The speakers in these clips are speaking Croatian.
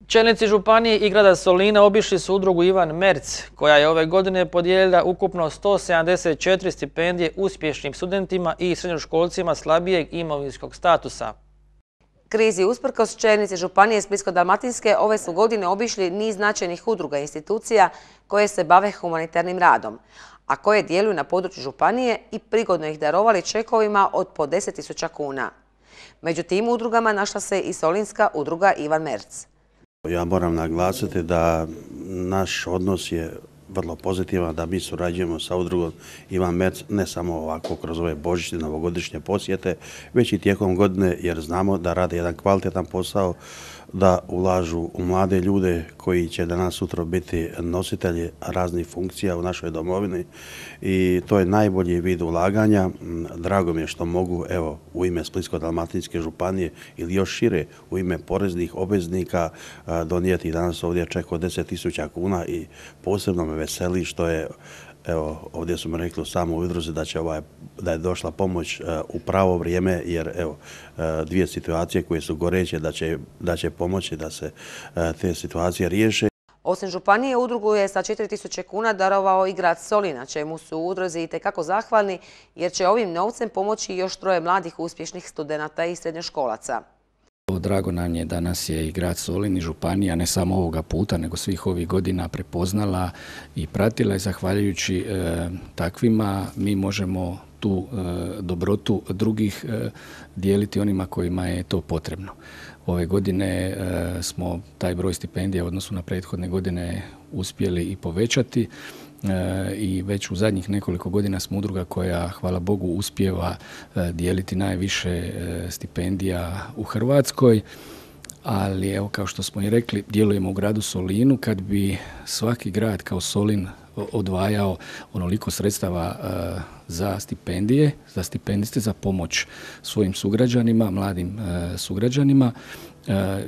Čelnici županije i grada Solina obišli su udrugu Ivan Merz, koja je ove godine podijelila ukupno 174 stipendije uspješnim studentima i srednjoškolcima slabijeg imovinskog statusa. Krizi usprkos, čelnici županije Splitsko-dalmatinske ove su godine obišli niz značajnih udruga i institucija koje se bave humanitarnim radom, a koje djeluju na području županije i prigodno ih darovali čekovima od po 10.000 kuna. Među tim udrugama našla se i solinska udruga Ivan Merz. Ja moram naglasiti da naš odnos je vrlo pozitivan, da mi surađujemo sa udrugom Ivan Merz ne samo ovako kroz ove božićne, novogodišnje posjete, već i tijekom godine, jer znamo da rade jedan kvalitetan posao, da ulažu u mlade ljude koji će danas sutra biti nositelji raznih funkcija u našoj domovini i to je najbolji vid ulaganja. Drago mi je što mogu u ime Splitsko-dalmatinske županije ili još šire u ime poreznih obveznika donijeti danas ovdje čak od 10.000 kuna i posebno me veseli što je ovdje su mi rekli u samoj udruzi da je došla pomoć u pravo vrijeme, jer dvije situacije koje su goreće da će pomoći da se te situacije riješe. Osim županije, udrugu je sa 4.000 kuna darovao i grad Solina, čemu su u udruzi itekako zahvalni, jer će ovim novcem pomoći još 3 mladih uspješnih studenata i srednjoškolaca. Drago nam je da nas je i grad Solin i županija ne samo ovoga puta, nego svih ovih godina prepoznala i pratila i zahvaljujući takvima mi možemo tu dobrotu drugih dijeliti onima kojima je to potrebno. Ove godine smo taj broj stipendija u odnosu na prethodne godine uspjeli i povećati. I već u zadnjih nekoliko godina smo udruga koja, hvala Bogu, uspijeva dijeliti najviše stipendija u Hrvatskoj, ali evo kao što smo i rekli, djelujemo u gradu Solinu. Kad bi svaki grad kao Solin odvajao onoliko sredstava za stipendije, za stipendiste, za pomoć svojim sugrađanima, mladim sugrađanima,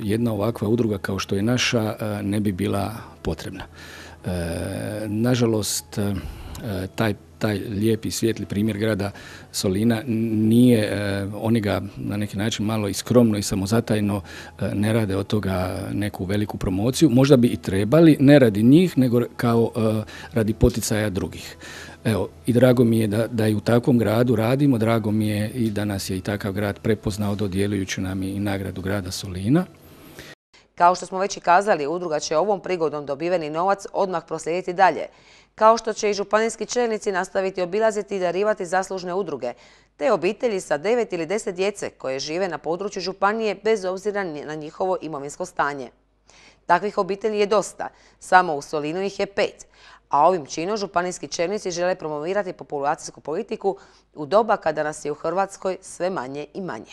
jedna ovakva udruga kao što je naša ne bi bila potrebna. Nažalost, taj lijepi, svijetli primjer grada Solina nije, oni ga na neki način malo i skromno i samozatajno ne rade od toga neku veliku promociju. Možda bi i trebali, ne radi njih, nego kao radi poticaja drugih. Evo, i drago mi je da i u takvom gradu radimo, drago mi je i da nas je i takav grad prepoznao dodjeljujući nam i nagradu grada Solina. Kao što smo već i kazali, udruga će ovom prigodom dobiveni novac odmah proslijediti dalje, kao što će i županijski čelnici nastaviti obilaziti i darivati zaslužne udruge, te obitelji sa 9 ili 10 djece koje žive na području županije bez obzira na njihovo imovinsko stanje. Takvih obitelji je dosta, samo u Solinu ih je 5, a ovim činom županijski čelnici žele promovirati populacijsku politiku u doba kada nas je u Hrvatskoj sve manje i manje.